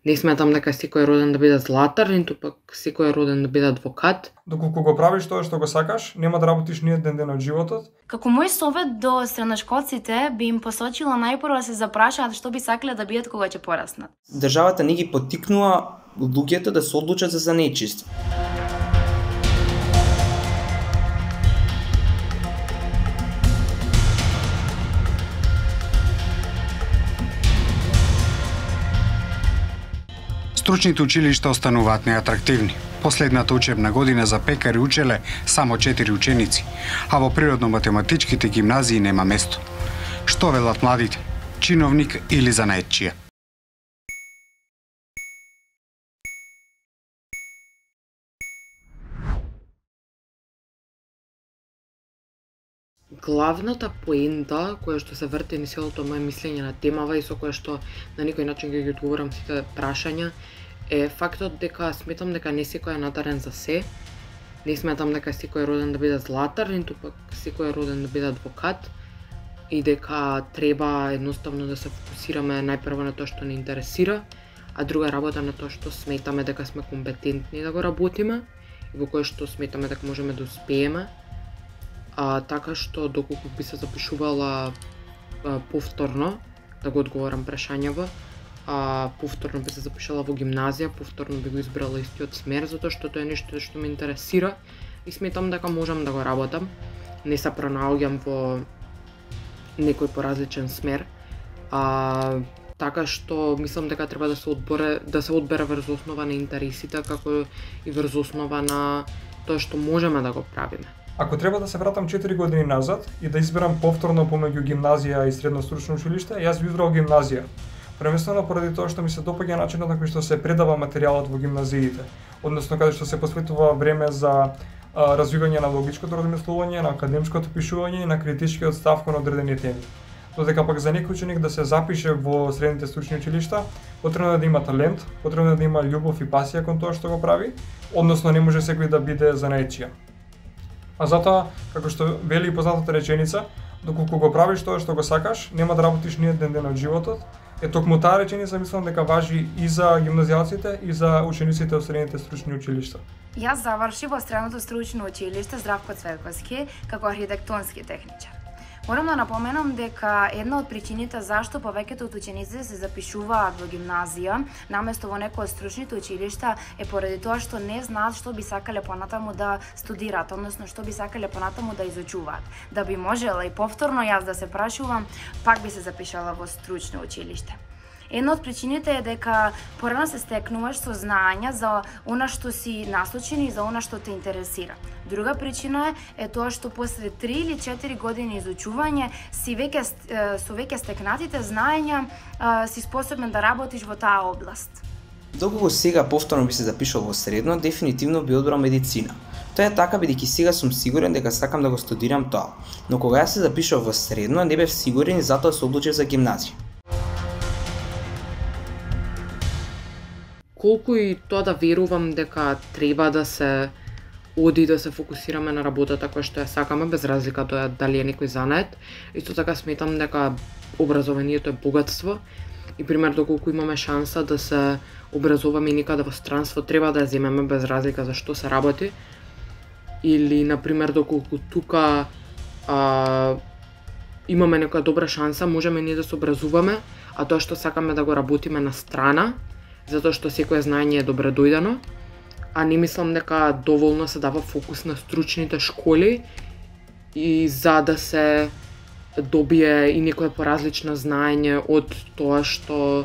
Не сметам дека секој е роден да биде златар, ниту пак секој е роден да биде адвокат. Доколку го правиш тоа што го сакаш, нема да работиш ни еден ден од животот. Како мој совет до средношколците би им посочила најпрво да се запрашаат што би сакале да бидат кога ќе пораснат. Државата не ги поттикнува луѓето да се одлучат за занечиство. Стручните училишта остануваат неатрактивни. Последната учебна година за пекари учеле само 4 ученици, а во природно-математичките гимназии нема место. Што велат младите? Чиновник или занаетчија? Главната поента која што се врти низ целото моje мислење на темава и со која што на некој начин ги одговорам сите прашања е фактот дека сметам дека не секој е надарен за се. Не сметам дека секој е роден да биде златар, ниту пак секој е роден да биде адвокат и дека треба едноставно да се фокусираме најпрво на тоа што не интересира, а друга работа на тоа што сметаме дека сме компетентни да го работиме и во кое што сметаме дека можеме да успееме. Така што доколку би се запишувала повторно да го одговорам прашањава, повторно би се запишала во гимназија, повторно би го избрала истиот смер, затоа што тоа е нешто што ме интересира и сметам дека можам да го работам. Не се пронаоѓам во некој поразличен смер. Така што мислам дека треба да се одбере врз основа на интересите, како и врз основа на тоа што можеме да го правиме. Ако треба да се вратам 4 години назад и да изберам повторно помеѓу гимназија и средно стручно училиште, јас би избрал гимназија. Првенствено поради тоа што ми се допаѓа начинот на кој што се предава материјалот во гимназиите, односно каде што се посветува време за развивање на логичкото размислување, на академското пишување и на критичкиот став кон одредени теми. Додека пак за некој ученик да се запише во средните стручни училишта, потребно е да има талент, потребно е да има љубов и пасија кон тоа што го прави, односно не може секој да биде занаетчија. А затоа, како што вели и познатата реченица, доколку го правиш тоа што го сакаш, нема да работиш ни еден ден од животот. Токму таа реченица мислам дека важи и за гимназијалците и за учениците од средните стручни училишта. Јас завршив во средното стручно училиште Здравко Цветковски како архитектонски техничар. Морам да напоменам дека една од причините зашто повеќето од учениците се запишуваат во гимназија наместо во некој од стручните училишта е поради тоа што не знаат што би сакале понатаму да студираат, односно што би сакале понатаму да изучуваат. Да би можела и повторно јас да се прашувам, пак би се запишала во стручно училиште. Една од причините е дека порано се стекнуваш со знаења за она што си насочен и за она што те интересира. Друга причина е тоа што после 3 или 4 години изучување со веќе стекнатите знаења си способен да работиш во таа област. Доколку сега повторно би се запишал во средно, дефинитивно би одбрал медицина. Тоа е така бидејќи сега сум сигурен дека сакам да го студирам тоа, но кога јас се запишав во средно не бев сигурен и затоа се одлучив за гимназија. Колку и тоа да верувам дека треба да се оди да се фокусираме на работата која што ја сакаме, без разлика тоа дали е некој занает, исто така сметам дека образованието е богатство и пример доколку имаме шанса да се образуваме некаде во странство, треба да ја земеме без разлика за што се работи. Или на пример доколку тука имаме некоја добра шанса, можеме ние да се образуваме, а тоа што сакаме да го работиме на страна, затоа што секое знаење е добре дојдено, а не мислам дека доволно се дава фокус на стручните школи и за да се добие и некое поразлично знаење од тоа што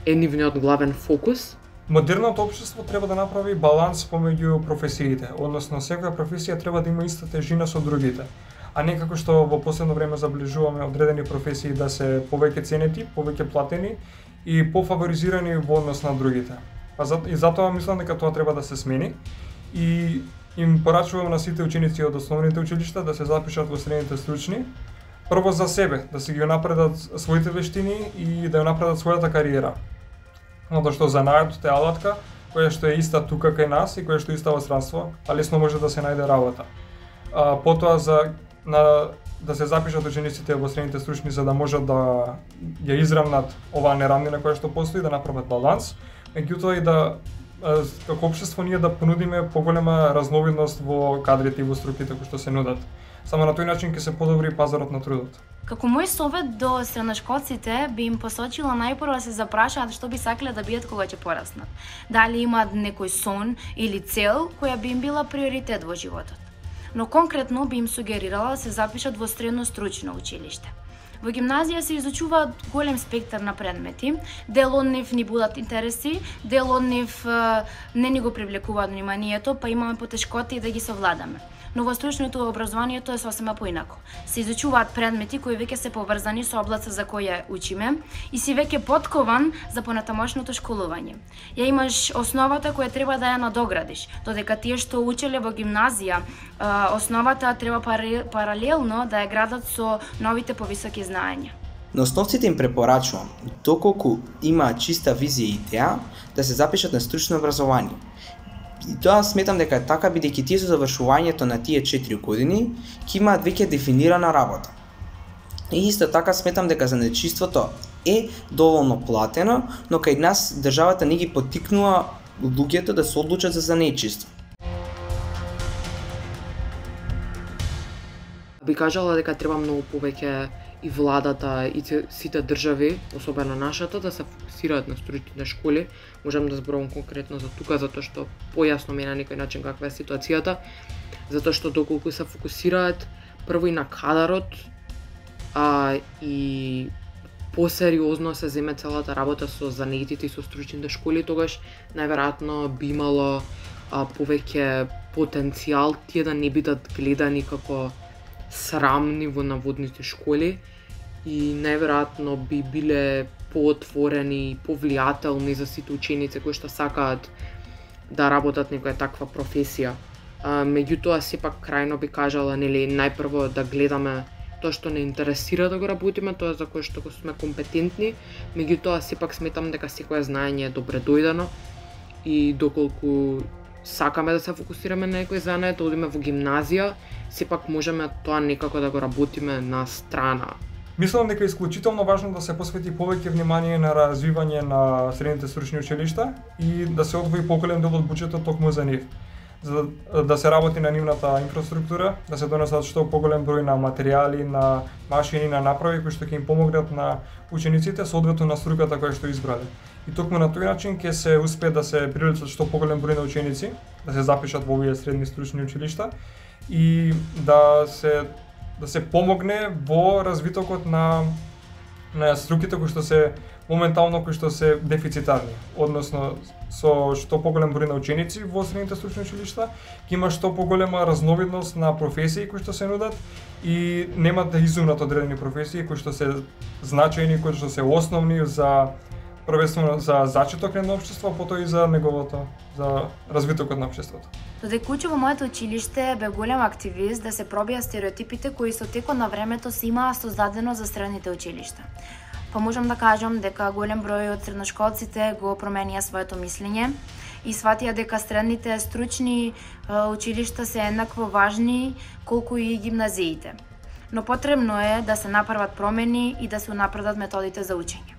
е нивниот главен фокус. Модерното општество треба да направи баланс помеѓу професиите, односно секоја професија треба да има иста тежина со другите, а не како што во последно време заближуваме одредени професии да се повеќе ценети, повеќе платени и пофаворизирани во однос на другите. И затоа мислам дека тоа треба да се смени и им порачувам на сите ученици од основните училишта да се запишат во средните стручни, прво за себе, да си ги напредат своите вештини и да ја напредат својата кариера. Затоа што занаетот е алатка која што е иста тука кај нас и која што е иста во странство, а лесно може да се најде работа. Потоа да се запишат учениците во средните стручни за да можат да ја израмнат оваа неравнина која што постои, да направат баланс. меѓутоа и да како општество ние да понудиме поголема разновидност во кадрите и во струките кои што се нудат. Само на тој начин ќе се подобри пазарот на трудот. Како мој совет до средношколците би им посочила најпрво да се запрашаат што би сакале да бидат кога ќе пораснат. Дали имаат некој сон или цел која би им била приоритет во животот. Но конкретно би им сугерирала да се запишат во средно стручно училиште. Во гимназија се изучуваат голем спектар на предмети, дел од нив ни будат интереси, дел од нив не ни го привлекуваат вниманието, па имаме потешкоти да ги совладаме. Но во стручното образованието е сосема поинако. Се изучуваат предмети кои веќе се поврзани со областа за која учиме и си веќе подкован за понатамошното школување. Ја имаш основата која треба да ја надоградиш, додека тие што учеле во гимназија, основата треба паралелно да ја градат со новите повисоки знаења. На основците им препорачувам, доколку имаат чиста визија и идеја, да се запишат на стручно образование. И тоа сметам дека е така бидејќи тие со завршувањето на тие 4 години ќе имаат веќе дефинирана работа. И исто така сметам дека занечиството е доволно платено, но кај нас државата не ги поттикнува луѓето да се одлучат за занечиство. Би кажала дека треба многу повеќе и владата и сите држави, особено нашата, да се фокусираат на стручните школи. Можам да зборувам конкретно за тука, затоа што појасно ми е на некој начин каква е ситуацијата. Затоа што доколку се фокусираат прво и на кадарот, и посериозно се земе целата работа со занетите и со стручните школи, тогаш најверојатно би имало повеќе потенцијал тие да не бидат гледани како срамни во наводните школи и најверојатно би биле поотворени и повлијателни за сите ученици кои што сакаат да работат некоја таква професија. Меѓутоа, сепак крајно би кажала, нели, најпрво да гледаме тоа што не интересира да го работиме, тоа за кое што сме компетентни, меѓутоа сепак сметам дека секое знаење е добре дојдено и доколку сакаме да се фокусираме на некој занет, да одиме во гимназија, сепак можеме тоа некако да го работиме на страна. Мислам дека е исклучително важно да се посвети повеќе внимание на развивање на средните стручни училишта и да се одвои поголем дел од буџетот токму за нив. За да се работи на нивната инфраструктура, да се донесат што поголем број на материјали, на машини, на направи кои што ќе им помогнат на учениците соодветно на струката која што избрале. И токму на тој начин ќе се успее да се привлечат што поголем број на ученици, да се запишат во овие средни стручни училишта и да се помогне во развитокот на струките кои што се моментално кои што се дефицитарни, односно со што поголем број на ученици во средните стручни училишта, ќе има што поголема разновидност на професии кои што се нудат и нема да изумнат одредени професии кои што се значајни, кои што се основни за првенствено за зачеток на општество, потоа и за неговото, за развитокот на општеството. Додека учев во моето училиште, бе голем активист да се пробија стереотипите кои со текот на времето се имаа создадено за средните училишта. Па можам да кажам дека голем број од средношколците го променија своето мислење и сватија дека средните стручни училишта се еднакво важни колку и гимназиите. Но потребно е да се направат промени и да се унапредат методите за учење.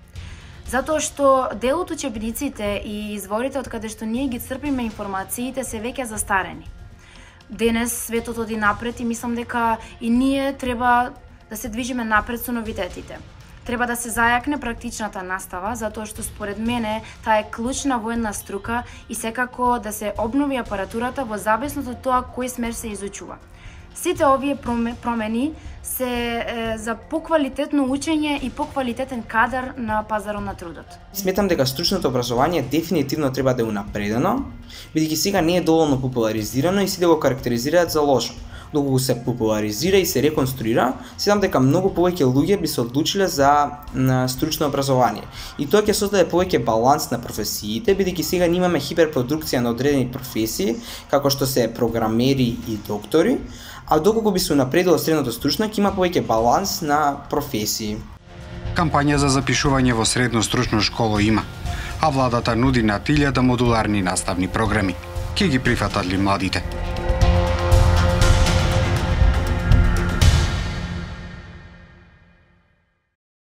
Затоа што дел од учебниците и изворите од каде што ние ги црпиме информациите се веќе застарени. Денес светот оди напред и мислам дека и ние треба да се движиме напред со новитетите. Треба да се зајакне практичната настава, затоа што според мене таа е клучна во една струка и секако да се обнови апаратурата во зависност од тоа кој смер се изучува. Сите овие промени се за поквалитетно учење и поквалитетен кадар на пазарот на трудот. Сметам дека стручното образование дефинитивно треба да е унапредено, бидејќи сега не е доволно популаризирано и сите го карактеризираат за лошо. Доколку се популаризира и се реконструира, сметам дека многу повеќе луѓе би се одлучиле за стручно образование. И тоа ќе создаде повеќе баланс на професиите, бидејќи сега имаме хиперпродукција на одредени професии, како што се програмери и доктори, а доколку би се унапредило средното стручно, ќе има повеќе баланс на професии. Кампања за запишување во средно стручно школо има, а владата нуди на 1000 модуларни наставни програми. Ке ги прифатат ли младите?